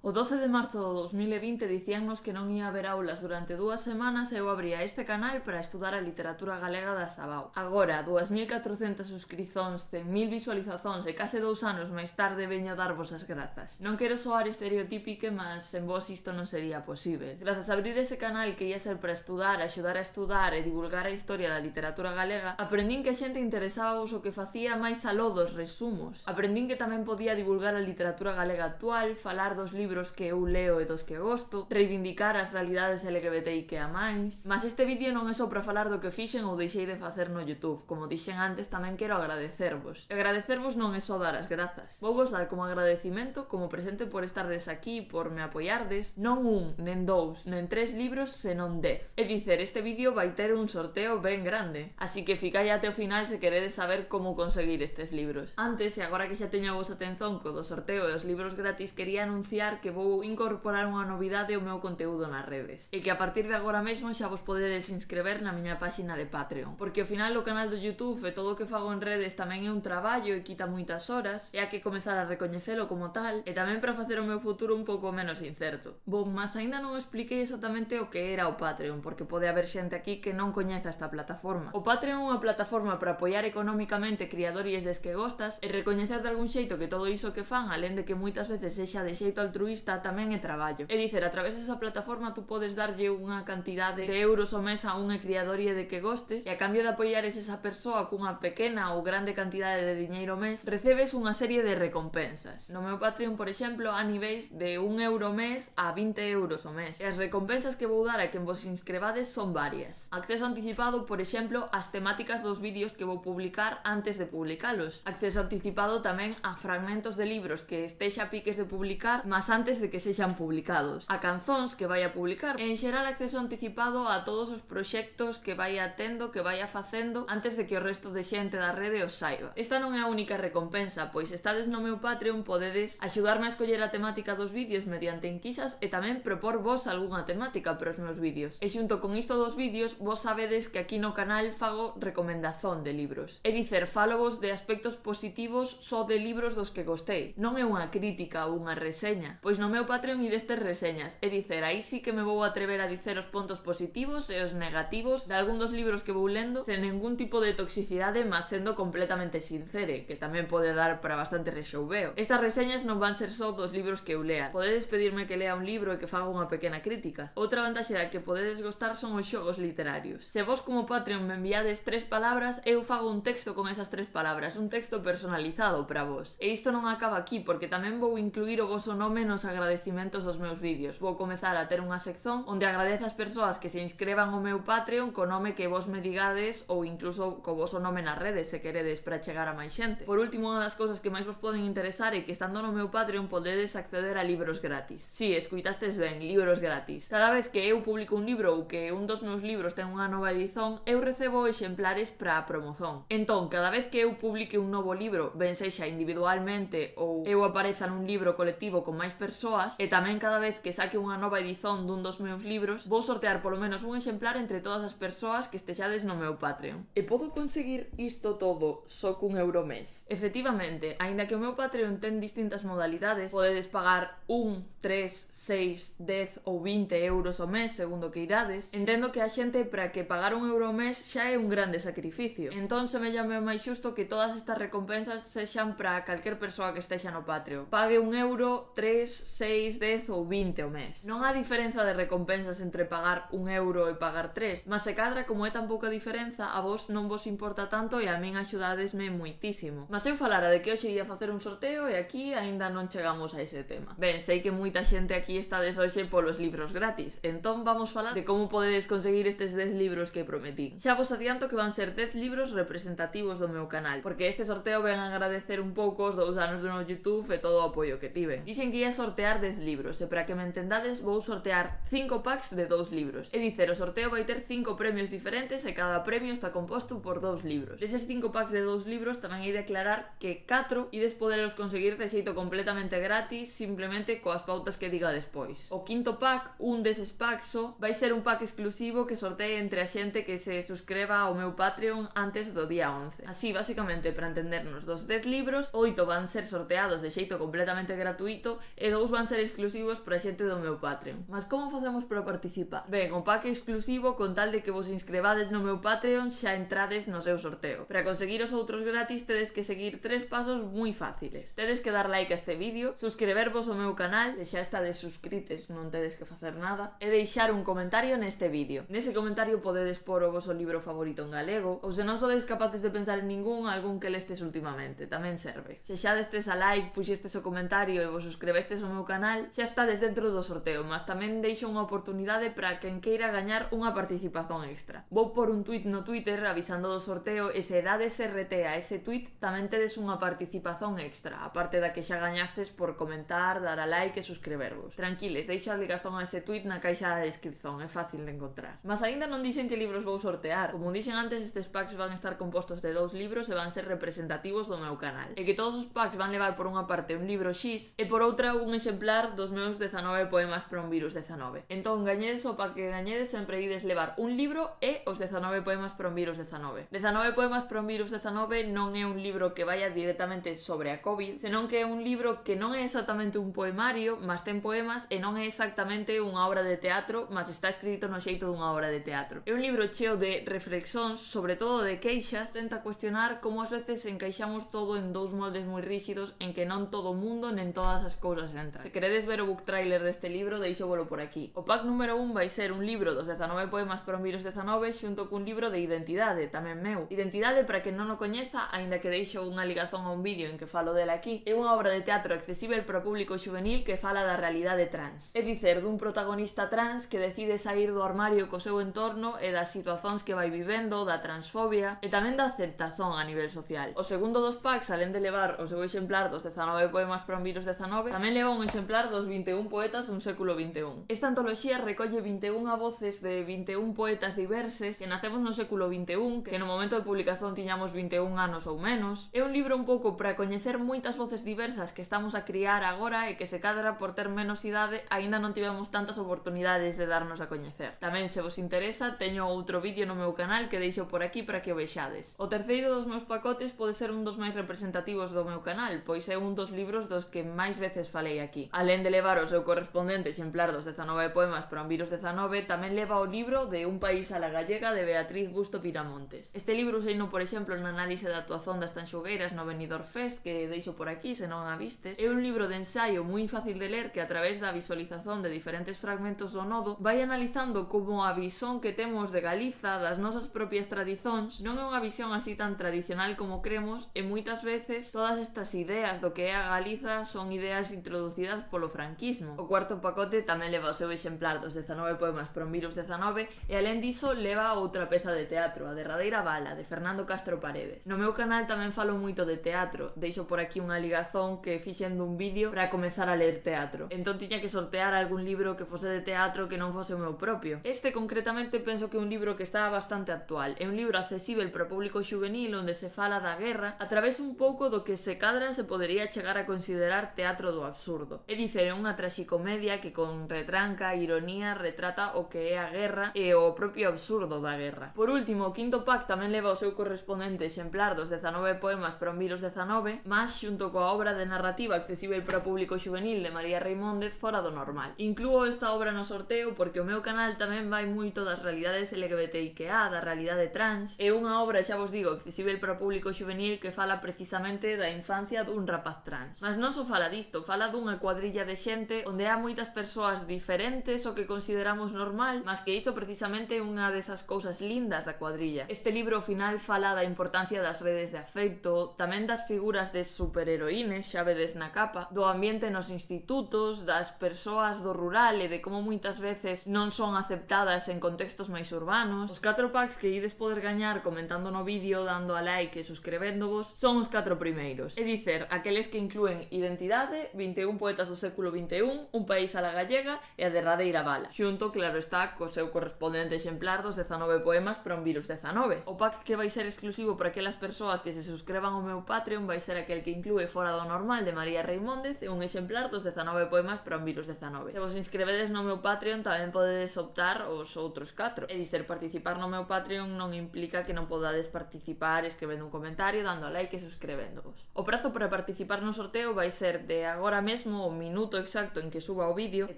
O 12 de marzo do 2020 dicíannos que non ia haber aulas durante 2 semanas e eu abría este canal para estudar a literatura galega da Sabao. Agora, 2400 suscrizóns, 100.000 visualizacións e case 2 anos máis tarde veño a darvos as grazas. Non quero soar estereotípica, mas sen vos isto non sería posible. Grazas a abrir ese canal que ia ser para estudar, axudar a estudar e divulgar a historia da literatura galega, aprendín que a xente interesábavos o que facía máis aló dos resumos. Aprendín que tamén podía divulgar a literatura galega actual, falar dos libros que eu leo e dos que gosto, reivindicar as realidades LGBTI que a máis. Mas este vídeo non é só para falar do que fixen ou deixei de facer no YouTube. Como dixen antes, tamén quero agradecervos. E agradecervos non é só dar as grazas. Vou vos dar como agradecimento, como presente por estardes aquí, por me apoiardes, non un, nen dous, nen 3 libros, senón 10. É dicer, este vídeo vai ter un sorteo ben grande, así que ficai até o final se queredes saber como conseguir estes libros. Antes, e agora que xa teño a vosa atención co do sorteo e os libros gratis, quería anunciar que vou incorporar unha novidade ao meu conteúdo nas redes, e que a partir de agora mesmo xa vos podedes inscrever na miña páxina de Patreon, porque ao final o canal do YouTube e todo o que fago en redes tamén é un traballo e quita moitas horas, e hai que comezar a recoñecelo como tal, e tamén para facer o meu futuro un pouco menos incerto. Bom, mas aínda non expliquei exactamente o que era o Patreon, porque pode haber xente aquí que non coñeza esta plataforma. O Patreon é unha plataforma para apoiar económicamente criadores des que gostas e recoñecer de algún xeito que todo iso que fan, alén de que moitas veces sexa de xeito altruista, tamén é traballo. É dicer, a través desa plataforma tú podes darlle unha cantidade de euros ao mes a unha criadorie de que gostes e a cambio de apoiares esa persoa cunha pequena ou grande cantidade de diñeiro ao mes, recebes unha serie de recompensas. No meu Patreon, por exemplo, a niveis de 1 euro ao mes a 20 euros ao mes. E as recompensas que vou dar a quen vos inscrevades son varias. Acceso anticipado, por exemplo, ás temáticas dos vídeos que vou publicar antes de publicalos. Acceso anticipado tamén a fragmentos de libros que estexa a piques de publicar, mas antes de que sexan publicados, a canzóns que vai a publicar e en xeral acceso anticipado a todos os proxectos que vai atendo, que vai a facendo antes de que o resto de xente da rede os saiba. Esta non é a única recompensa, pois se estades no meu Patreon podedes axudarme a escoller a temática dos vídeos mediante enquisas e tamén propor vos algunha temática para os meus vídeos. E xunto con isto dos vídeos, vos sabedes que aquí no canal fago recomendazón de libros. É dicer, fálovos de aspectos positivos só de libros dos que gostei. Non é unha crítica ou unha reseña, pois no meu Patreon e destes reseñas, é dicer, aí sí que me vou atrever a dicer os pontos positivos e os negativos de algún dos libros que vou lendo sen ningún tipo de toxicidade, mas sendo completamente sincere, que tamén pode dar para bastante rexoubeo. Estas reseñas non van ser só dos libros que eu lea. Podedes pedirme que lea un libro e que faga unha pequena crítica. Outra vantaxe da que podedes gostar son os xogos literarios. Se vos como Patreon me enviades 3 palabras, eu fago un texto con esas 3 palabras, un texto personalizado para vos. E isto non acaba aquí, porque tamén vou incluir o voso nome nos agradecimentos dos meus vídeos. Vou comezar a ter unha sección onde agradezo as persoas que se inscrevan ao meu Patreon co nome que vos me digades ou incluso co voso nome nas redes se queredes para chegar a máis xente. Por último, unha das cousas que máis vos poden interesar é que estando no meu Patreon podedes acceder a libros gratis. Si, escuitastes ben, libros gratis. Cada vez que eu publico un libro ou que un dos meus libros ten unha nova edición, eu recebo exemplares para a promozón. Entón, cada vez que eu publique un novo libro, ben sexa individualmente ou eu apareza nun libro colectivo con máis persoas, e tamén cada vez que saque unha nova edición dun dos meus libros, vou sortear polo menos un exemplar entre todas as persoas que estexades no meu Patreon. E podo conseguir isto todo só cun euro mes? Efectivamente, aínda que o meu Patreon ten distintas modalidades, podedes pagar 1, 3, 6, 10 ou 20 euros ao mes, segundo que irades. Entendo que a xente para que pagar un euro ao mes xa é un grande sacrificio. Entón semellame máis xusto que todas estas recompensas sexan para calquer persoa que estexa no Patreon. Pague 1 euro, 3, 6, 10 ou 20 ao mes. Non há diferenza de recompensas entre pagar 1 euro e pagar 3, mas se cadra como é tan pouca diferenza, a vos non vos importa tanto e a min axudadesme moitísimo. Mas eu falara de que hoxe ia facer un sorteo e aquí aínda non chegamos a ese tema. Ben, sei que moita xente aquí estades hoxe polos libros gratis, entón vamos falar de como podedes conseguir estes 10 libros que prometín. Xa vos adianto que van ser 10 libros representativos do meu canal, porque este sorteo ven a agradecer un pouco os 2 anos do meu YouTube e todo o apoio que tiven. Dixen que ia sortear 10 libros e para que me entendades vou sortear 5 packs de 2 libros. É dicer, o sorteo vai ter 5 premios diferentes e cada premio está composto por 2 libros. Deses 5 packs de 2 libros tamén hai de aclarar que 4 ides poderos conseguir de xeito completamente gratis, simplemente coas pautas que diga despois. O quinto pack, un deses packs só, vai ser un pack exclusivo que sortee entre a xente que se suscriba ao meu Patreon antes do día 11. Así, basicamente, para entendernos, dos 10 libros, 8 van ser sorteados de xeito completamente gratuito e e 2 van ser exclusivos para xente do meu Patreon. Mas como facemos para participar? Ben, o pack exclusivo, con tal de que vos inscrevades no meu Patreon, xa entrades no seu sorteo. Para conseguir os outros gratis tedes que seguir 3 pasos moi fáciles. Tedes que dar like a este vídeo, suscribervos ao meu canal, se xa estades suscrites non tedes que facer nada, e deixar un comentario neste vídeo. Nese comentario podedes pôr o voso libro favorito en galego, ou se non sodes capaces de pensar en algún que lestes últimamente, tamén serve. Se xa destes a like, puxestes o comentario e vos suscribestes ao meu canal, xa estades dentro do sorteo, mas tamén deixo unha oportunidade para quen queira gañar unha participación extra. Vou por un tweet no Twitter avisando do sorteo e se dades RT a ese tweet tamén tedes unha participación extra, aparte da que xa gañastes por comentar, dar a like e suscribervos. Tranquiles, deixa a ligazón a ese tweet na caixa da descripción, é fácil de encontrar. Mas aínda non dixen que libros vou sortear. Como dixen antes, estes packs van estar compostos de 2 libros e van ser representativos do meu canal. E que todos os packs van levar por unha parte un libro X e por outra un exemplar dos meus 19 poemas para un virus 19. Entón, gañedes o pack que gañedes, sempre ides levar un libro e os 19 poemas para un virus 19. 19 poemas para un virus 19 non é un libro que vaya directamente sobre a COVID, senón que é un libro que non é exactamente un poemario, mas ten poemas, e non é exactamente unha obra de teatro, mas está escrito no xeito dunha obra de teatro. É un libro cheo de reflexións, sobre todo de queixas, tenta cuestionar como ás veces encaixamos todo en 2 moldes moi rígidos en que non todo o mundo nen todas as cousas entran. Se queredes ver o book trailer deste libro, deixóvolo por aquí. O pack número 1 vai ser un libro dos 19 poemas para un virus 19 xunto cun libro de identidade, tamén meu. Identidade, para quen non o coñeza, aínda que deixo unha ligazón a un vídeo en que falo dela aquí, é unha obra de teatro accesível para o público xuvenil que fala da realidade trans. É dicer, dun protagonista trans que decide sair do armario co seu entorno e das situacións que vai vivendo, da transfobia e tamén da aceptación a nivel social. O segundo dos packs, alén de levar o seu exemplar dos 19 poemas para un virus 19, tamén leva un exemplar dos 21 poetas dun século XXI. Esta antoloxía recolle 21 voces de 21 poetas diverses que nacemos no século XXI, que no momento de publicación tiñamos 21 anos ou menos. É un libro un pouco para coñecer moitas voces diversas que estamos a criar agora e que se cadra por ter menos idade aínda non tivemos tantas oportunidades de darnos a coñecer. Tamén, se vos interesa, teño outro vídeo no meu canal que deixo por aquí para que o vexades. O terceiro dos meus pacotes pode ser un dos máis representativos do meu canal, pois é un dos libros dos que máis veces falei aquí. Alén de levar o seu correspondente exemplar dos 19 poemas para un virus 19, tamén leva o libro de Un país a la gallega de Beatriz Busto Piramontes. Este libro useino, por exemplo, na análise da actuación das Tanxugueiras no Benidorm Fest, que deixo por aquí se non a vistes. É un libro de ensaio moi fácil de ler que a través da visualización de diferentes fragmentos do nodo vai analizando como a visón que temos de Galiza, das nosas propias tradicións, non é unha visión así tan tradicional como cremos, e moitas veces todas estas ideas do que é a Galiza son ideas introducidas polo franquismo. O cuarto pacote tamén leva o seu exemplar dos 19 poemas para un virus 19 e alén diso leva outra peza de teatro, a derradeira bala, de Fernando Castro Paredes. No meu canal tamén falo moito de teatro, deixo por aquí unha ligazón que fixen dun vídeo para comezar a ler teatro. Entón tiña que sortear algún libro que fose de teatro que non fose o meu propio. Este concretamente penso que é un libro que está bastante actual. É un libro accesível para o público xuvenil onde se fala da guerra a través un pouco do que se cadra se podería chegar a considerar teatro do absurdo. É dicer, é unha traxicomedia que con retranca e ironía retrata o que é a guerra e o propio absurdo da guerra. Por último, o quinto pack tamén leva o seu correspondente exemplar dos 19 poemas para un virus 19, mas xunto coa obra de narrativa accesível para o público xuvenil de María Reimóndez Fora do Normal. Inclúo esta obra no sorteo porque o meu canal tamén vai moito das realidades LGBTIQA, da realidade trans. É unha obra, xa vos digo, accesível para o público xuvenil que fala precisamente da infancia dun rapaz trans. Mas non só fala disto, fala dunha cuadrilla de xente onde há moitas persoas diferentes o que consideramos normal, mas que iso precisamente é unha desas cousas lindas da cuadrilla. Este libro ao final fala da importancia das redes de afecto, tamén das figuras de superheroínes, xa vedes na capa, do ambiente nos institutos, das persoas do rural e de como moitas veces non son aceptadas en contextos máis urbanos. Os 4 packs que ides poder gañar comentando no vídeo, dando a like e suscribéndovos son os 4 primeiros. É dicer, aqueles que inclúen Identidade, 21 poetas do século XXI, Un país a la gallega e a derradeira bala. Xunto, claro está, co seu correspondente exemplar dos 19 poemas para un virus 19. O pack que vai ser exclusivo para aquelas persoas que se suscriban ao meu Patreon vai ser aquel que inclúe Fora do Normal de María Reimóndez e un exemplar dos 19 poemas para un virus 19. Se vos inscrevedes no meu Patreon tamén podedes optar os outros 4. É dicer, participar no meu Patreon non implica que non podades participar escribendo un comentario, dando like e suscribéndovos. O prazo para participar no sorteo vai ser de agora mesmo mesmo o minuto exacto en que suba o vídeo, é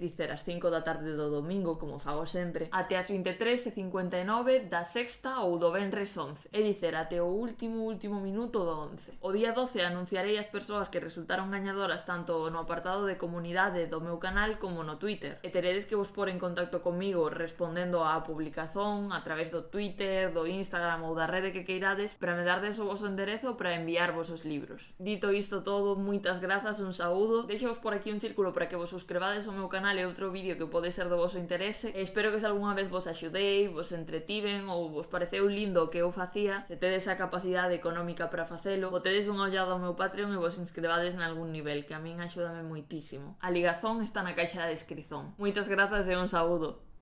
dicer, ás 5 da tarde do domingo, como fago sempre, até as 23:59 da sexta ou do venres 11, é dicer, até o último minuto do 11. O día 12 anunciarei as persoas que resultaron gañadoras tanto no apartado de comunidade do meu canal como no Twitter, e teredes que vos pôr en contacto comigo respondendo á publicación a través do Twitter, do Instagram ou da rede que queirades para me dardes o voso enderezo para enviarvos os libros. Dito isto todo, moitas grazas, un saúdo, deixo-vos por aquí un círculo para que vos suscribades ao meu canal e outro vídeo que pode ser do voso interese, e espero que se algunha vez vos axudei, vos entretiven ou vos pareceu lindo o que eu facía, se tedes a capacidade económica para facelo, botedes unha ollada ao meu Patreon e vos inscribades nalgún nivel, que a min axúdame moitísimo. A ligazón está na caixa da descrición. Moitas grazas e un saúdo.